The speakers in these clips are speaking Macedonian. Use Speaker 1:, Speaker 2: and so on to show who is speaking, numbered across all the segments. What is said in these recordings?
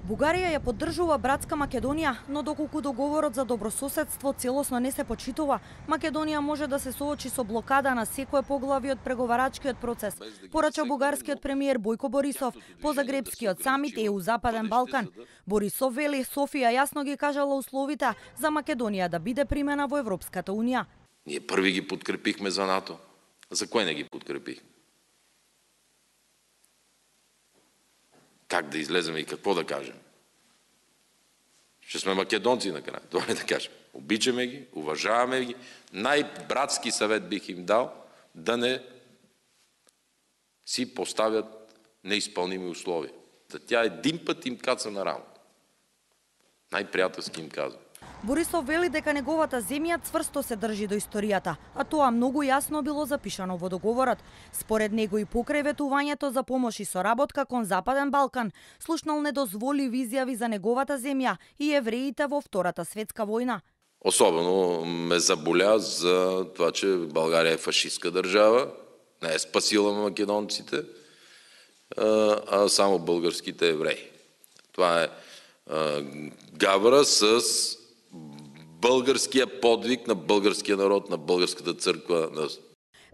Speaker 1: Бугарија ја поддржува братска Македонија, но доколку договорот за добрососедство целосно не се почитува, Македонија може да се соочи со блокада на секое поглавје од преговарачкиот процес, порача бугарскиот премиер Бојко Борисов по Загребскиот самит ЕУ Западен Балкан. Борисов вели Софија јасно ги кажала условите за Македонија да биде примена во Европската унија.
Speaker 2: Ние први ги подкрепихме за НАТО. За кој не ги подкрепихме? Как да излеземе и какво да кажем? Ще сме македонци накрая, това е да кажем. Обичаме ги, уважаваме ги. Най-братски съвет бих им дал да не си поставят неизпълними условия. Да тя един път им каца на рамото. Най-приятелски им казвам.
Speaker 1: Борисов вели дека неговата земја цврсто се држи до историјата, а тоа многу јасно било запишано во договорот. Според него и покрај ветувањето за помош и соработка кон Западен Балкан, слушнал недозволиви изјави за неговата земја и евреите во Втората светска војна.
Speaker 2: Особено ме заболя за това, че България е фашистска държава, не е спасила македонците, а само българските евреи. Това е гавра с българския подвиг на българския народ, на българската црква.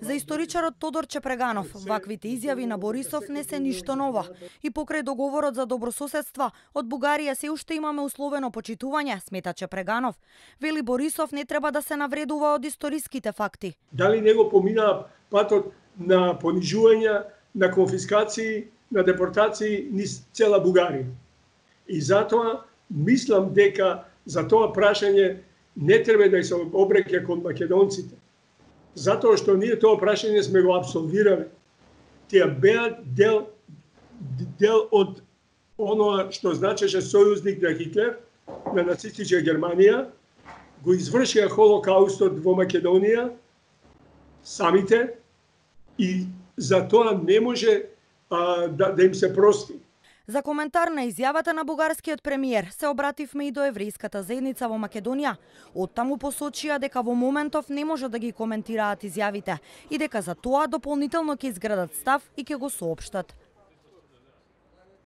Speaker 1: За историчарот Тодор Чепреганов, ваквите изјави на Борисов не се ништо ново. И покрај договорот за добрососедство, од Бугарија се уште имаме условено почитување, смета Чепреганов. Вели Борисов не треба да се навредува од историските факти.
Speaker 3: Дали него поминаа патот на понижување, на конфискации, на депортации низ цела Бугарија. И затоа мислам дека за тоа прашање не треба да се обреќа кон македонците. Затоа што ние тоа прашање сме го абсолвирали. Тие беа дел од оноа што значеше сојузник на Хитлер, на нацистичка Германија, го извршија Холокаустот во Македонија самите и за тоа не може да им се прости.
Speaker 1: За коментар на изјавата на бугарскиот премиер се обративме и до еврејската заедница во Македонија. Оттаму посочија дека во моментов не може да ги коментираат изјавите и дека за тоа дополнително ќе изградат став и ќе го соопштат.